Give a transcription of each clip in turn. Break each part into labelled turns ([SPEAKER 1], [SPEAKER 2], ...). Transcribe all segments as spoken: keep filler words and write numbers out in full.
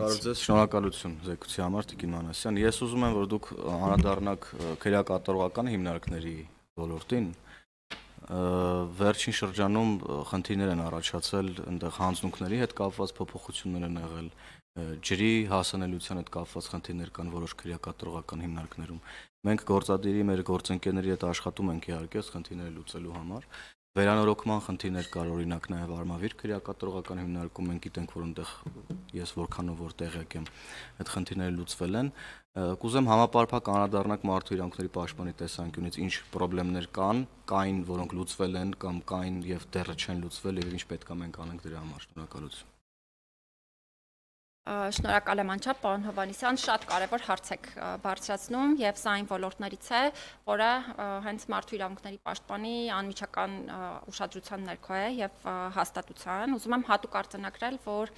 [SPEAKER 1] Բարև ձեզ, շնորհակալություն զեկույցի համար Տիկին Մանասյան։ Ես ուզում եմ, որ դուք անդրադառնաք քրեակատարողական հիմնարկների ոլորտին։ Վերջին շրջանում խնդիրներ են առաջացել այնտեղ հանձնունքների հետ կապված փոփոխություններ են եղել, ջրի հասանելիության հետ կապված խնդիրներ կան որոշ քրեակատարողական հիմնարկներում։ Մենք գործադիրի մեր գործընկերների հետ աշխատում ենք իհարկե այս խնդիրները լուծելու համար։ Վերանորոգման խնդիրներ կար, օրինակ նաև Արմավիր քրեակատարողական հիմնարկում մենք գիտենք, որ այնտեղ ես որքանով որ տեղյակ եմ, այդ խնդիրները լուծվել են։ Կուզեմ համապարփակ անդրադառնանք մարդու իրավունքների պաշտպանի տեսանկյունից ինչ խնդիրներ կան, կային, որոնք լուծվել են կամ կային եւ դեռ չեն լուծվել եւ ինչ պետք է մենք անենք դրա համար։ Շնորհակալություն։
[SPEAKER 2] Շնորհակալ եմ անչափ, պարոն Հովհաննիսյան, շատ կարևոր հարց եք բարձրացնում եւ սա այն ոլորտներից է, որը հենց մարդու իրավունքների պաշտպանի անմիջական ուշադրության ներքո է եւ հաստատության։ Ուզում եմ հատուկ արձանագրել, որ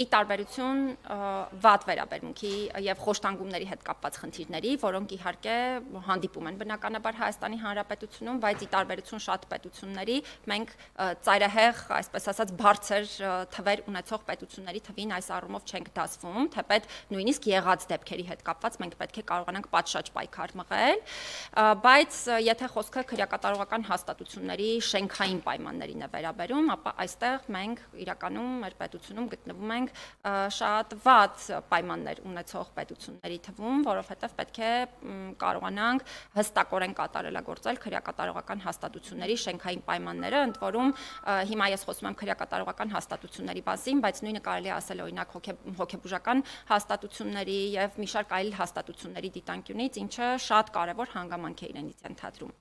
[SPEAKER 2] ի տարբերություն վատ վերաբերմունքի եւ խոշտանգումների հետ կապված խնդիրների, որոնք իհարկե հանդիպում են բնականաբար Հայաստանի Հանրապետությունում, բայց ի տարբերություն շատ պետությունների մենք ծայրահեղ, այսպես ասած, բարձր թվեր ունեցող պետությունների թվին այս առումով չենք դասվում, թեպետ նույնիսկ եղած դեպքերի հետ կապված մենք պետք է կարողանանք պատշաճ պայքար մղել, բայց եթե խոսքը քրեակատարողական հաստատությունների շենքային պայմաններին է վերաբերում, ապա այստեղ մենք իրականում մեր պետությունում գտնվում ենք շատ վատ պայմաններ ունեցող պետությունների թվում, որովհետև պետք է կարողանանք հստակորեն կատարելագործել քրեակատարողական հաստատությունների շենքային պայմանները, ընդ որում հիմա ես խոսում եմ քրեակատարողական հաստատությունների մասին, բայց նույնը կարելի է ասել օրինակ հոգեբուժական հաստատությունների եւ մի շարք այլ հաստատությունների դիտանկյունից, ինչը շատ կարևոր հանգամանք է իրենից ենթադրում։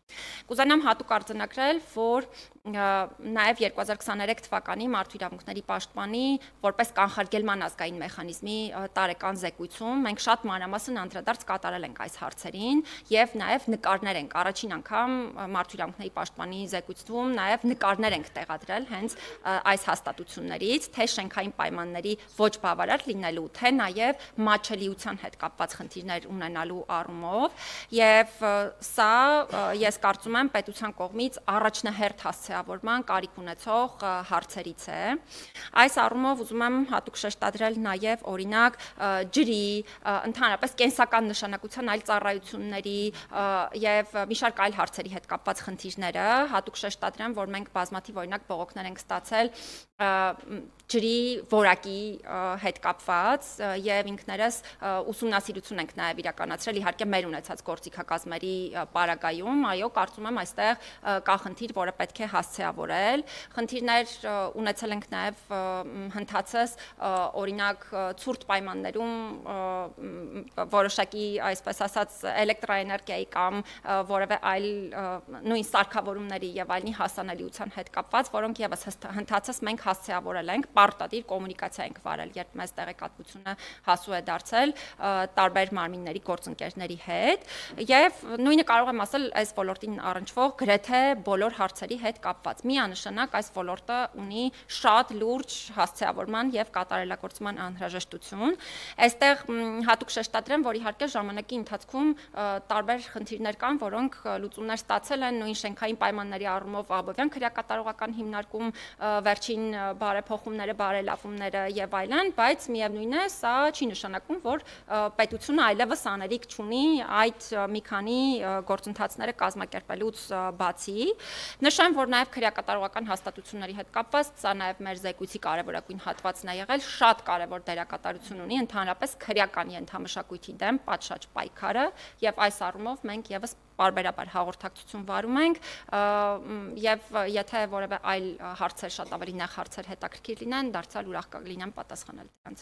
[SPEAKER 2] Կուզենամ հատուկ արձանագրել, որ նաեւ երկու հազար քսաներեք թվականի մարդու իրավունքների պաշտպանի որպես կանխարգելման ազգային մեխանիզմի տարեկան զեկույցում մենք շատ մանրամասն անդրադարձ կատարել ենք այս հարցերին եւ նաեւ նկարներ ենք առաջին անգամ մարդու իրավունքների պաշտպանի զեկույցում նաեւ նկարներ ենք տեղադրել հենց այս հաստատություններից, թե շենքային պայմանների ոչ բավարար լինելու, թե նաեւ մատչելիության հետ կապված խնդիրներ ունենալու առումով եւ սա ես կարծում եմ պետության կողմից առաջնահերթ հասցեավորման կարիք ունեցող հարցերից է։ Այս առումով ուզում եմ հատուկ շեշտադրել նաև օրինակ ջրի, ընդհանրապես կենսական նշանակության այլ ծառայությունների եւ մի շարք այլ հարցերի հետ կապված խնդիրները, հատուկ շեշտադրեմ, որ մենք բազմաթիվ օրինակ բողոքներ ենք ստացել ջրի որակի հետ կապված եւ ինքներս ուսումնասիրություն ենք նաեւ իրականացրել իհարկե մեր ունեցած գործիքակազմերի պարագայում, այո, կարծում եմ այստեղ կա խնդիր, որը պետք է հասցեավորել։ Խնդիրներ ունեցել ենք նաեւ հնդածս օրինակ ցուրտ պայմաններում որոշակի այսպես ասած էլեկտրաէներգիայի կամ որևէ այլ նույն սարքավորումների եւ այլնի հասանելիության հետ կապված, որոնք եւս հնդածս մենք հասցեավորել ենք, պարտադիր կոմունիկացիա ենք վարել, երբ մեզ տեղեկատվությունը հասու է դարձել տարբեր մարմինների գործընկերների հետ եւ նույնը կարող եմ ասել այս ոլորտին առնչվող գրեթե բոլոր հարցերի հետ կապված։ Միանշանակ այս ոլորտը ունի շատ լուրջ հասցեավորման եւ կատարելագործման անհրաժեշտություն։ Այստեղ հատուկ շեշտադրեմ, որ իհարկե ժամանակի ընթացքում տարբեր խնդիրներ կան, որոնք լուծումներ ստացել են նույն շենքային պայմանների առումով Աբովյան քրեակատարողական հիմնարկում վերջին բարեփոխումները, բարելավումները եւ այլն, բայց միևնույն է, սա չի նշանակում, որ պետությունը այլևս անելիք չունի այդ մի քանի գործընթացները կազմակերպելուց բացի։ Նշեմ, որ նաեւ քրեակատարողական հաստատությունների հետ կապված, սա նաեւ մեր զեկույցի կարևորագույն հատվածն է եղել, շատ կարևոր դերակատարություն ունի ընդհանրապես քրեական ենթամշակույթի դեմ պատշաճ պայքարը եւ այս առումով մենք եւս պարբերաբար հաղորդակցություն վարում ենք եւ եթե որևէ այլ հարցեր շատ ավելի նեղ հարցեր հետաքրքիր լինեն, դարձյալ ուրախ կլինեմ պատասխանել դրանց։